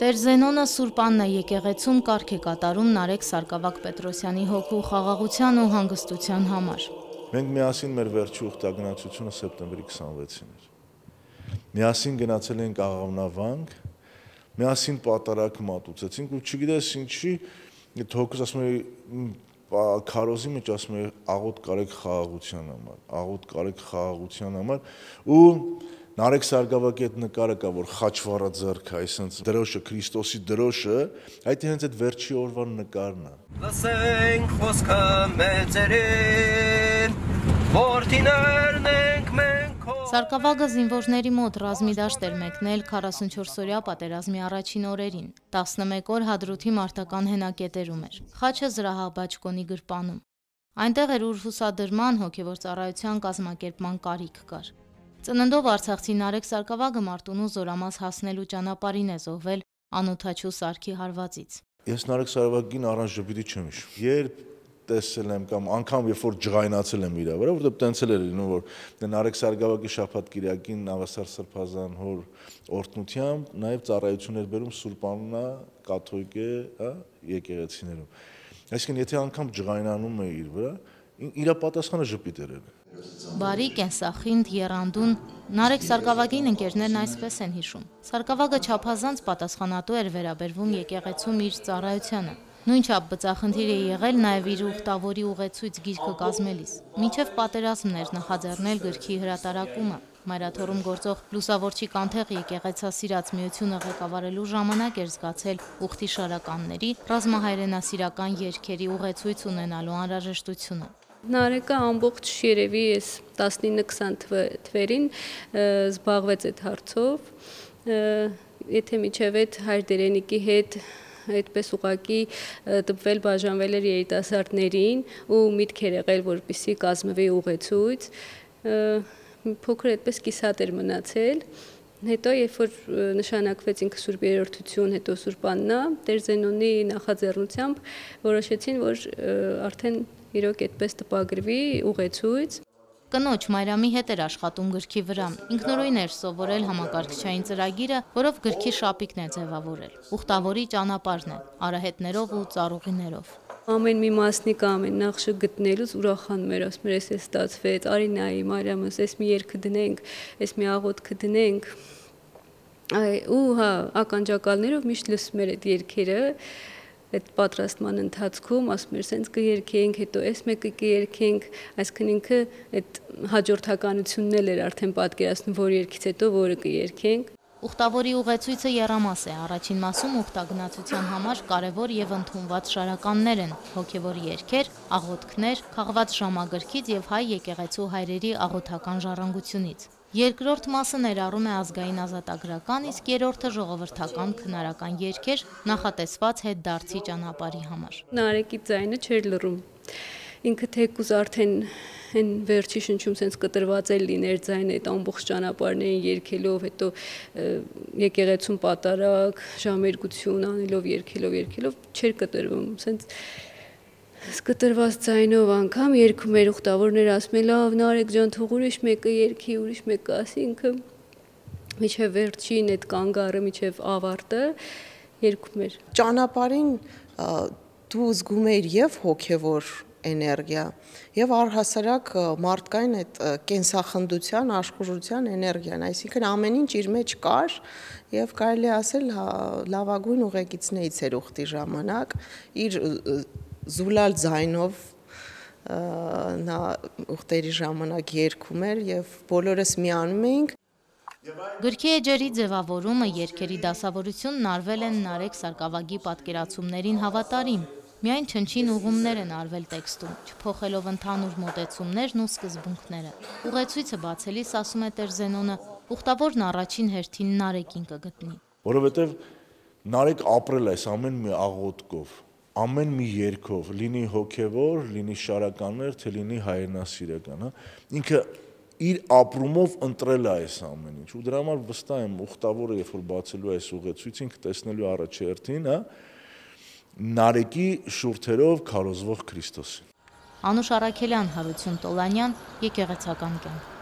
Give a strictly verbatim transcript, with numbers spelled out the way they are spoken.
Տեր Զենոնը Սուրբ Աննա եկեղեցում կարգ է կատարում Նարեկ Սարգսակ Պետրոսյանի հոգու խաղաղության ու հանգստության համար։ Մենք միասին մեր վերջի ուխտագնացությունը սեպտեմբերի քսանվեցին էր։ Միասին գնացել ենք Աղավնավանք, միասին պատարակ մատուցեցինք ու չգիտես ինչի, հոգուս ասում եմ քարոզի մեջ ասում եմ աղոտ կարեք խաղաղության համար, աղոտ կարեք խաղաղության համար ու Նարեկ Սարգսակի այդ նկարը կա, որ խաչվառա ձեռքը, այսինքն դրոշը, Քրիստոսի դրոշը, այդ հենց այդ վերջի օրվա նկարն է։ Լսենք խոսքը մեծերին, որդիներն ենք մենք քո։ Սարգսակը զինվորների մոտ ռազմի դաշտ էր մեկնել քառասունչորսօրյա պատերազմի առաջին օրերին, տասնմեկ օր Հադրութի մարտական հենակետերում էր, խաչը զրահաբաճկոնի գրպանում։ Այնտեղ էր, ուր հուսադրման, հոգևոր ծառայության կազմակերպման կարիք կար։ Ծննդով Արցախցի Նարեկ Սարգսակը Մարտունու Զորամաս հասնելու ճանապարհին է զոհվել Անօթաչու Սարգի հարվածից։ Ես Նարեկ Սարգսակին առանց ժպիտի չեմ հիշում։ Երբ տեսել եմ կամ անգամ երբ որ ջղայնացել եմ իր վրա, որովհետև տենցել էր լինում, որ Նարեկ Սարգսակի շաբաթ կիրակին Նավասար Սրբազան հոր օրհնությամբ նաև ծառայություն էր բերում Սուրբ Աննա կաթողիկե, հա, եկեղեցիներում։ Այսինքն եթե անգամ ջղայնանում է իր վրա, իր պատասխանը ժպիտ էր։ Բարի, կենսախինդ, եռանդուն Նարեկ Սարգսակին ընկերներն այսպես են հիշում։ Սարգսակը չափազանց պատասխանատու էր վերաբերվում եկեղեցում իր ծառայությանը։ Նույնչափ բծախնդիր է եղել նաև իր ուխտավորի ուղեցույց գիրքը կազմելիս։ Մինչև պատերազմն էր նախաձեռնել գրքի հրատարակումը։ Մայրաթոռում գործող Լուսավորչի կանթեղ եկեղեցասիրած միությունը ղեկավարելու ժամանակ էր զգացել ուխտի շարականների ռազմահայրենասիրական երգերի ուղեցույց ունենալու անհրաժեշտությունը։ Նարեկը ամբողջ երևի ես տասնինը քսան թվերին զբաղվեց այդ հարցով, եթե միջև այդ հայր դերենիկի հետ այդպես ուղակի տպվել բաժանվել էր երիտասարդներին ու միտք էր եղել, որպեսզի կազմվի ուղեցույց, փոքր այդպես կիսատ էր մնացել, հետո երբ որ նշանակվեց ինքը Սուրբ Երրորդություն, հետո Սուրբ Աննա, Տեր Զենոնի նախաձեռնությամբ որոշեցին, որ արդեն իրոք այդպես տպագրվի ուղեցույց։ Կնոջ Մարիամի հետ էր աշխատում գրքի վրա, ինքնուրույն էր սովորել համակարգչային ծրագիրը, որով գրքի շապիկն է ձևավորել, ուխտավորի ճանապարհն է, արահետներով ու ծառուղիներով։ Ամեն մի մասնիկ ամեն նախշը գտնելուց ուրախանում էր, ասում էր, էս է ստացվեց, արի նայի Մարիամս, էս մի երգը դնենք, էս մի աղոթքը դնենք։ Ու հա, ականջակալներով միշտ լսում էր այդ երգերը, այդ պատրաստման ընթացքում ասում էր, սենց կերքենք, հետո այս մեկը կերքենք, այսինքն ինքը այդ հաջորդականությունն էլ էր արդեն պատկերացնում, որ երգից հետո որը կերքենք։ Ուխտավորի ուղեցույցը եռամաս է, առաջին մասում ուխտագնացության համար կարևոր եւ ընդունված շարականներ են, հոգևոր երգեր, աղոթքներ, քաղված ժամագրքից եւ հայ եկեղեցու հայրերի աղոթական ժառանգությունից։ Երկրորդ մասը ներառում է ազգային ազատագրական, իսկ երրորդը ժողովրդական քնարական երգեր նախատեսված հետդարձի ճանապարհի համար։ Նարեկի ձայնը չէր լռում։ Ինքը թեկուզ արդեն այն վերջի շնչում սենց կտրված էլ լիներ ձայնը այդ ամբողջ ճանապարհներին երգելով, հետո եկեղեցում պատարակ, ժամերգություն անելով, երգելով, երգելով չէր կտրվում, սենց սկտրված ձայնով անգամ երգում էր ուխտավորներ, ասում էր լավ Նարեկ ջան, թող ուրիշ մեկը երգի, ուրիշ մեկը ասի, ինքը միջև վերջին այդ կանգառը, միջև ավարտը երգում էր։ Ճանապարհին դու զգում ես եւ հոգեվոր էներգիա եւ առհասարակ մարդկային այդ կենսախնդության, աշխուժության էներգիան, այսինքն ամեն ինչ իր մեջ կար եւ կարելի ասել լավագույն ուղեկիցներից էր ուխտի ժամանակ իր զուլալ ձայնով նա ուխտերի ժամանակ երգում էր եւ բոլորս միանում էինք։ Գրքի էջերի ձևավորումը, երգերի դասավորությունն արվել են Նարեկ Սարգսակի պատկերացումներին հավատարիմ, միայն չնչին ուղումներ են արվել տեքստում, չփոխելով ընդհանուր մոտեցումներն ու սկզբունքները։ Ուղեցույցը բացելիս ասում է Տեր Զենոնը, ուխտավորն առաջին հերթին Նարեկին կգտնի։ Որովհետեւ Նարեկ ապրել այս ամեն մի աղոթքով, ամեն մի երգով, լինի հոգևոր, լինի շարականներ, թե լինի հայրենասիրական, հա, ինքը իր ապրումով ընտրել է այս ամեն ինչ, ու դրա համար վստահ եմ ուխտավորը, երբ որ բացելու այս ուղեցույցը, ինքը տեսնելու առաջերտին, հա, Նարեկի շուրթերով քարոզվող Քրիստոսին։ Անուշ Առաքելյան, Հարություն Տոլանյան, Եկեղեցական կյանք։